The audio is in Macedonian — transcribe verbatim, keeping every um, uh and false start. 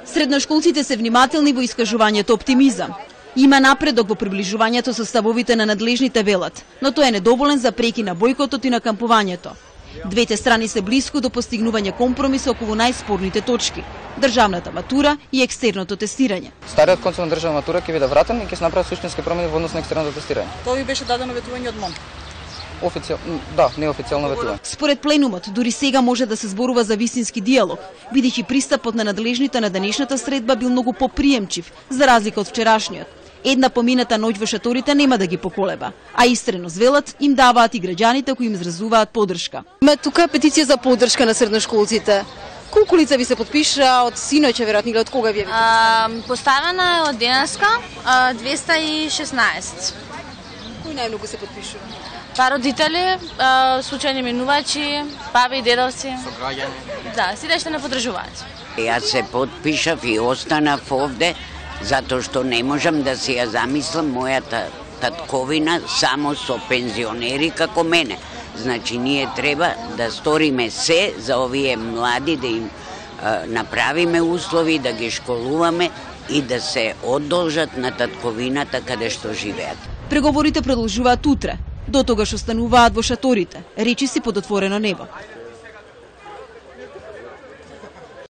Средношколците се внимателни во искажувањето оптимизам. Има напредок во приближувањето со ставовите на надлежните, велат, но тој е недоволен за преки на бојкотот и на кампувањето. Двете страни се блиску до постигнување компромис околу најспорните точки: државната матура и екстерното тестирање. Стариот концепт на државна матура ќе биде вратен и ќе се направат суштински промени во однос на екстерното тестирање. Тоа ви беше дадено ветување од МОН. Официјално, да, неофицијално ветување. Според пленумот, дури сега може да се зборува за вистински диалог, бидејќи пристапот на надлежните на денешната средба бил многу поприемчив, за разлика од вчерашниот. Една помината ноќ во шаторите нема да ги поколеба, а истрено звелат им даваат и граѓаните кои им изразуваат поддршка. Има тука петиција за поддршка на средношколците. Колку лица ви се подпиша од синоќа, веројатно, или од кога ви е? А, поставена е од денеска двеста и шеснаесет. Кои најмногу се подпишува? Па родители, а, случајни минувачи, баби и дедовци. Со граѓани. Да, сите што не поддржуваат. Јас се подпишав и останав овде, затоа што не можам да си ја замислам мојата татковина само со пензионери како мене. Значи, ние треба да сториме се за овие млади, да им а, направиме услови, да ги школуваме и да се одолжат на татковината каде што живеат. Преговорите продолжуваат утре. До тогаш остануваат во шаторите, речиси под отворено небо.